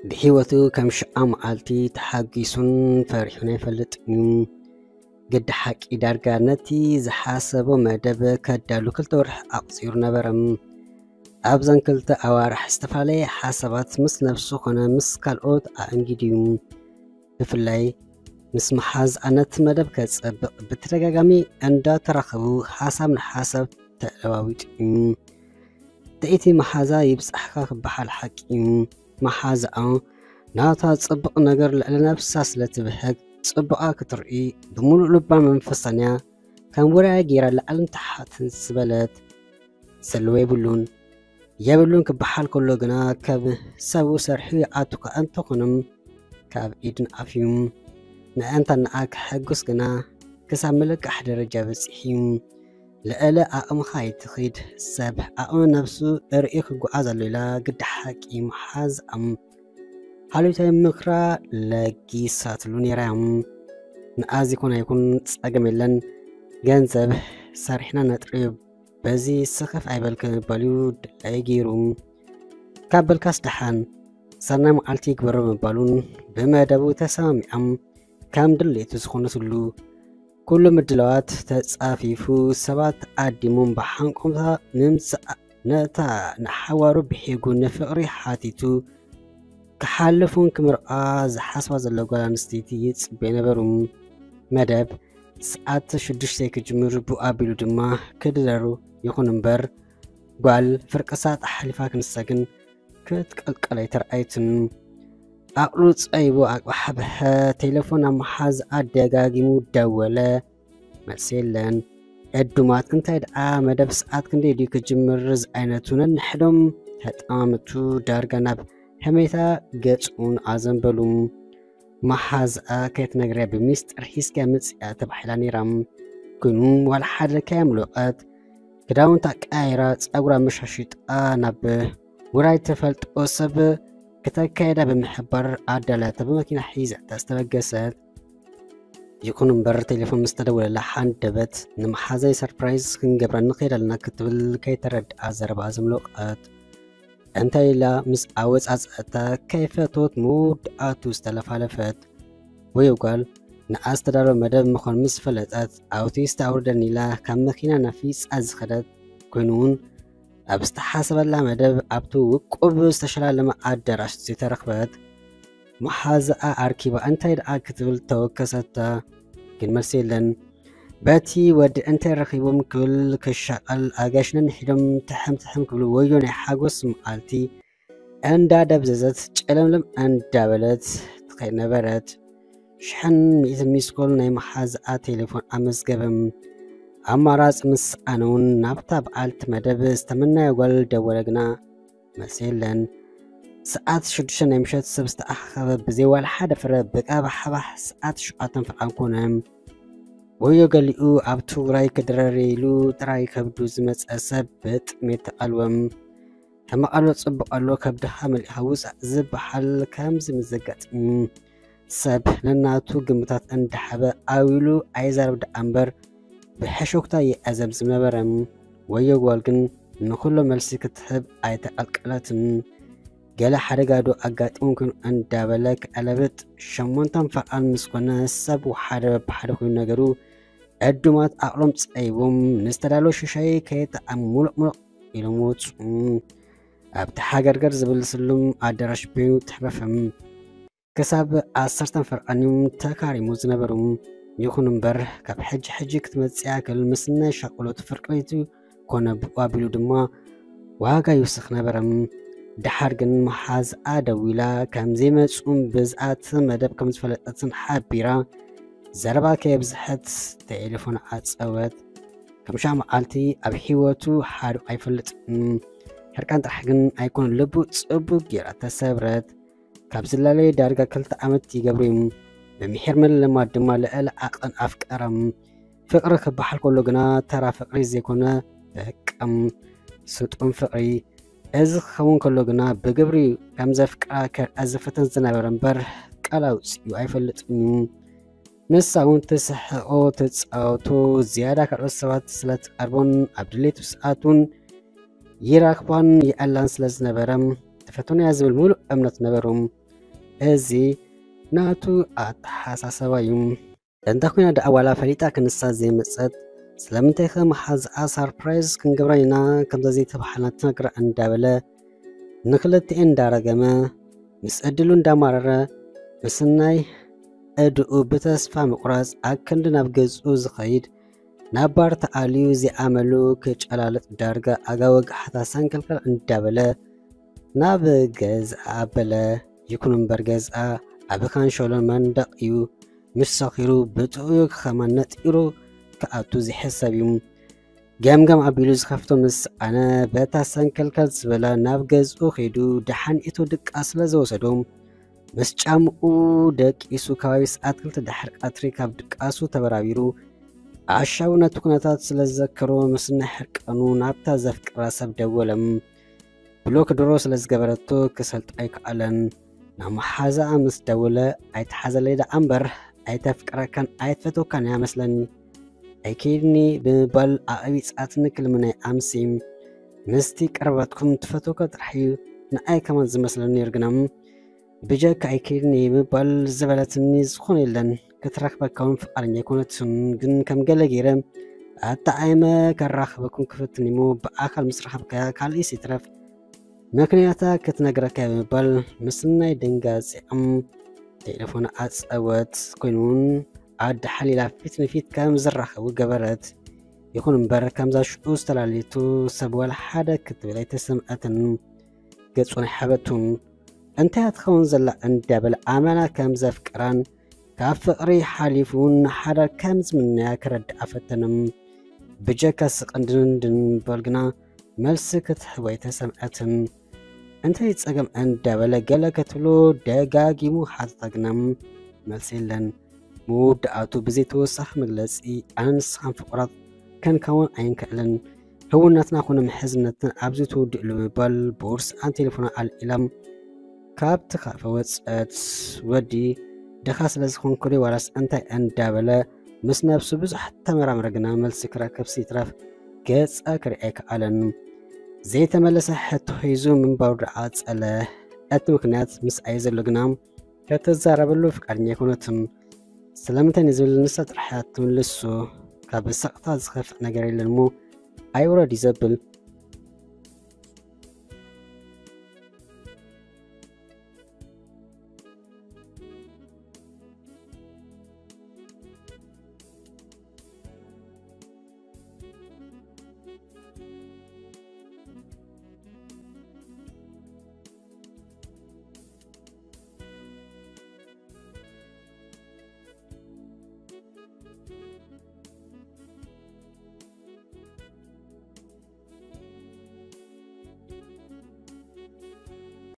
ብህይወቱ ከም ሽዓ መዓልቲ ተሓጒሱን ፈሪሑን ኣይፈልጥን እዩ። ግዲ ሓቂ ዳርጋ ነቲ ዝሓሰቦ መደብ ከዳሉ ክልተ ወርሒ ኣቑጺሩ ነበረ። ኣብዘን ክልተ ኣዋርሕ ዝተፈላለየ ሓሳባት ምስ ነብሱ ኮነ ምስ ካልኦት ኣእንጊዱ እዩ። ብፍላይ ምስ መሓዝኣ ነቲ መደብ ከጸብቕ ብተደጋጋሚ እንዳተራኸቡ ሓሳብ ንሓሳብ ተለዋዊጡ እዩ። ትእቲ መሓዛ ይብጻሕካ ክበሃል ሓቂ እዩ። መሓዛኣ ናታ ጽቡቕ ነገር ልዕሊ ነብሳ ስለ ትብህግ ጽቡቓ ክትርኢ ብምሉእ ልባን መንፈሳን እያ ከም ውራያ ገይራ ላዕልን ታሕትን ዝበለት። ዘለዎ የብሉን። የብሉን ክበሃል ከሎ ግና ካብ ሰቡ ሰርሑ ይኣቱ ከኣ እንተኾነ ካብ ኢድን ኣፍዩ ምእንታን ንኣ ከሐጉስ ግና ክሳብ ምልቃሕ ደረጃ በጺሑ እዩ። ልዕሊ ዓቕምኻ ኣይትኺድ። ሰብ ዓቕሚ ነብሱ ርእዩ ክጓዓዝ ኣሎ ኢላ ግዲ ሓቂ መሓዛኣ ሓልዮታዊ ምኽራ ለጊሳትሉ ነይራ። ንኣ ዘይኮነ ኣይኩን ጸገም የለን፣ ገንዘብ ሰሪሕና ነጥርዮ፣ በዚ ስኽፍ ኣይበል ከምባል እዩ ድላይ ገይሩ። ካብ በልካስ ደሓን፣ ሰናይ መዓልቲ ይግበሮ ምባሉን ብመደቡ ተሰማሚዖም ከም ድሌቱ ዝኾነትሉ ኩሉ ምድላዋት ተጻፊፉ፣ ሰባት ኣዲሞም ብሓንቆምታ ምምጻእ ነታ ንሓዋሩ ብሒጉ ንፍቕሪ ሓቲቱ ክሓልፉን ክምርዓ ዝሓስባ ዘሎ ጓል ኣንስተይቲ ይጽበ ነበሩ። መደብ ሰዓት ሽዱሽተ ክጅምር ብኡ ኣቢሉ ድማ ክድረሩ ይኹን እምበር ጓል ፍርቂ ሰዓት ኣሕሊፋ ክንሳ ግን ክትቀልቀል ኣይተርኣየትን። ዓቕሉ ጸይቡ ኣቅባሕበሐ። ቴሌፎን ኣብ መሓዝኣ ደጋጊሙ ደወለ። መልሲ የለን። ዕዱማት እንታይ ደኣ መደብ ሰዓት ክንደይ ድዩ ክጅምር ዝዓይነቱ ነንሕዶም ተጠማምቱ ዳርጋ ናብ ሕሜታ ገጹን ኣዘንበሉ። መሓዝኣ ከይትነግርያ ብሚስጥር ሒዝክያ ምጽያ ተባሂላ ነይራ። ግን ዋላ ሓደ ከየምለቐት ክዳውንታ ቀያይራ ጸጉራ መሻሽጣ ናብ ውራይ ተፈልጦ ሰብ ክተካየዳ ብምሕባር ኣዳላታ ብመኪና ሒዛታ ዝተበገሰት። ይኹን እምበር ቴሌፎን ምስ ተደወለላ ሓንደበት ንመሓዛይ ሰርፕራይዝ ክንገብራ ንኸይድ ኣለና ክትብል ከይተረድኣ ዘረባ ዘምለቐት። እንታይ ኢላ ምስ ኣወጻጽኣታ ከይፈተወት መወዳእቱ ዝተለፋለፈት። ወዮ ጓል ንኣ ዝተዳለወ መደብ ምዃኑ ምስ ፈለጠት ኣውቶቡስ ኣውርደኒ ኢላ ካብ መኪና ናፊጻ ዝኸደት ኮይኑ እውን ኣብ ዝተሓሰበላ መደብ ኣብቲ ውቁብ ዝተሸላለመ ኣዳራሽ ዘይተረኽበት። መሓዛኣ ኣርኪባ እንታይ ደኣ ክትብል ተወከሰታ፣ ግን መልሲ የለን። በቲ ወዲ እንታይ ረኺቦም ክብል ክሻቐል ኣጋይሽ ነንሒዶም ትሕም ትሕም ክብሉ ወዮ ናይ ሓጎስ መዓልቲ እንዳደብዘዘት ጨለምለም እንዳበለት ትኸይድ ነበረት። ሽሕን ሚእትን ሚስኮል ናይ መሓዛኣ ቴሌፎን ኣመዝገበ። ኣማራጺ ምስ ሰኣነ እውን ናብታ በዓልቲ መደብ ዝተመናዮ ጓል ደወለ ግና መልሲ የለን። ሰዓት ሽዱሽተ ናይ ምሸት ሰብ ዝተኣኻኸበ ብዘይ ዋላ ሓደ ፍረ ብቃባሕባሕ ሰዓት ሸውዓተን ፈርቓን ኮነ። ወዮ ገሊኡ ኣብ ትግራይ ክድረር ኢሉ ጥራይ ከብዱ ዝመጸ ሰብ ብጥሜት ተቐልወ። ሕማቕ ኣሎ ጽቡቕ ኣሎ ከብድኻ መሊእኻ ውጻእ ዝበሃል ከምዚ ምስ ዘጋጥም ሰብ ነናቱ ግምታት እንዳሓበ ኣዊሉ ኣይዛረብ ደኣ እምበር ብሕሹኽታ ይዕዘብ ዝነበረ ወዮ ጓል ግን ንኹሎ መልሲ ክትህብ ኣይተቐልቀለትን። ገለ ሓደጋ ዶ ኣጋጢሙ ኮይኑ እንዳበለ ክዕለብጥ ሸሞንተን ፈርቓን ምስ ኮነ ሰብ ሓደ በብሓደ ኮይኑ ነገሩ ዕዱማት ዓቕሎም ጸይቦም ንዝተዳለወ ሽሻይ ከየጠዓሙ ሙሉቕ ሙሉቕ ኢሎም ወጹ። ኣብቲ ሓገርገር ዝብል ስሉም ኣዳራሽ በይኑ ተሕረፈ። ክሳብ ዓሰርተን ፈርቓን እዮም ተካሪሙ ዝነበሩ። ይኹን እምበር ካብ ሕጂ ሕጂ ክትመጽእ ያክል ምስ ናይ ሻቕሎት ፍርቂ ለይቲ ኮነ ብኡ ኣቢሉ ድማ ዋጋ ይውስኽ ነበረ። ደሓር ግን መሓዝኣ ደዊላ ከም ዘይመጹን ብዝኣቲ መደብ ከም ዝፈለጠትን ሓቢራ ዘረባ ከየብዝሐት ቴሌፎን ዓጸወት። ከም ሽዓ መዓልቲ ኣብ ህይወቱ ሓሪቑ ኣይፈልጥን። ሕርቃን ጥራሕ ግን ኣይኮነን ልቡ ጽቡቕ ጌራ ተሰብረት። ካብ ዝላለየ ዳርጋ ክልተ ዓመት ይገብሩ እዮም። ብምሒር ምልልማድ ድማ ልዕሊ ዓቐን ኣፍቀረም። ፍቕሪ ክበሃል ከሎ ግና ተራ ፍቕሪ ዘይኮነ በቃ ስጡም ፍቕሪ። እዚ ክኸውን ከሎ ግና ብግብሪ ከም ዘፍቅራ ከርኣ ዝፍትን ዝነበረ እምበር ቃል ኣውጺኡ ኣይፈልጥን እዩ። ንሳ እውን ትስሕቖ ትጻወቶ ዝያዳ ካልኦት ሰባት ስለ ትቐርቦን ኣብ ድሌቱ ሰዓት እውን ይራኽባን ይኣላን ስለ ዝነበረ ትፈትኖ እያ ዝብል ሙሉእ እምነት ነበሮም። እዚ ናቱ ኣተሓሳሰባ እዩ። እንተ ኮይና ደኣ ዋላ ፈሊጣ ክንሳ ዘይመጸት፣ ስለምንታይ ከ መሓዝኣ ሳርፕራይዝ ክንገብራ ኢና ከምዛ ዘይተባህልና ትነግራ እንዳበለ ንክልቲኤን እንዳረገመ ምስ ዕድሉ እንዳማረረ ምስናይ እድኡ ብተስፋ ምቑራጽ ኣክንዲ ናብ ገዝኡ ዝኸይድ ናብ ባር ተኣልዩ ዘይኣመሉ ክጨላልጥ ዳርጋ ኣጋ ወግሓታ ሰንከልከል እንዳበለ ናብ ገዝኣ ኣበለ። ይኹን እምበር ገዝኣ ኣብ ካንሸሎን መንደቕ እዩ። ምስ ሰኺሩ ብጥዑዩ ክኸማ ነጢሩ ክኣቱ ዝሕሰብ እዩ። ገምገም ኣቢሉ ዝኸፍቶ ምስ ኣነ በታ ሰንከልከል ዝበላ ናብ ገዝኡ ከይዱ ደሓን ኢቱ ድቃስ ስለ ዝወሰዶ ምስ ጫምኡ ደቂሱ ከባቢ ሰዓት ክልተ ድሕሪ ቀትሪ ካብ ድቃሱ ተበራቢሩ ኣሻቡ ነቲ ኩነታት ስለ ዝዘከሮ ምስ ናይ ሕርቃኑ ናብታ ዘፍቅራ ሰብ ደወለ። ብሎክ ድሮ ስለ ዝገበረቶ ክሰልጥ ኣይከኣለን። ናብ መሓዛኣ ምስ ደወለ ኣይትሓዘለይ ደኣ እምበር ኣይተፍቅረካን ኣይትፈትወካን እያ መስለኒ ኣይከይድኒ ብምባል ኣዕቢጻትኒ ክልምነይ ኣምሲ ምስቲ ቀረባትኩም ትፈትወካ ጥራሕ እዩ ንኣይ ከማን ዝመስለኒ ነይሩ ግና ብጀካ ኣይከይድኒ ምባል ዝበለትኒ ዝኾነ የለን። ክትረኽበካ እውን ፍቓደኛ ኣይኮነትን። ግን ከም ገለ ገይረ ኣጣዓይመ ከራኽበኩም ክፍትን እሞ ብኣካል ምስ ረኸብካያ ካልእስ ይትረፍ ምክንያታ ክትነግረካ ብምባል ምስናይ ድንጋጺኦም ቴሌፎን ኣጸወት። ኮይኑ እውን ኣደ ሓሊላ ፊት ንፊት ከም ዝራኸቡ ገበረት። ይኹን እምበር ከምዛ ሽዑ ዝተላለየቱ ሰብ ዋላ ሓደ ክትብል ኣይተሰምዐትን። ገጹን ሓበቱን እንታይ ትኸውን ዘላ እንዳበለ ኣመና ከም ዘፍቅራን ካብ ፍቕሪ ሓሊፉ ንሓዳር ከም ዝምነያ ከረድኣ ፈተነ። ብጀካ ስቕን ድንድን ምባል ግና መልሲ ክትህቦ ኣይተሰምዐትን። እንታይ ጸገም እንዳበለ ገለ ክትብሎ ደጋጊሙ ሓተታ ግና መልሲ የለን። መወዳእቱ ብዘይተወሳኺ መግለጺ ኣነ ንስኻን ፍቑራት ከንከውን ኣይንክእልን። ህውነትና ኮነ ምሕዝነትና ኣብዚ ትውድእሉ ብምባል ቦርስኣን ቴሌፎና ኣልዒላ ካብቲ ካፈ ወጸት። ወዲ ድኻ ስለ ዝኾንኩ ዶ ዋላስ እንታይ እንዳበለ ምስ ነብሱ ብዙሕ ተመራመረ ግና መልሲ ክረክብ ሲትረፍ ገጻ ክርኢ ኣይከኣለን። ዘይተመለሰ ሕቶ ሒዙ ምንባሩ ደኣ ጸለ። እቲ ምክንያት ምስ ኣየ ዘሎ ግና ከተዛረበሉ ፍቃደኛ ኣይኮነትን። ስለምንታይ ንዝብል ንሳ ጥራሕ እያ ትምልሶ። ካብ ስቕታ ዝኸፍእ ነገር የለን እሞ ኣይውረድ እዩ ዘብል።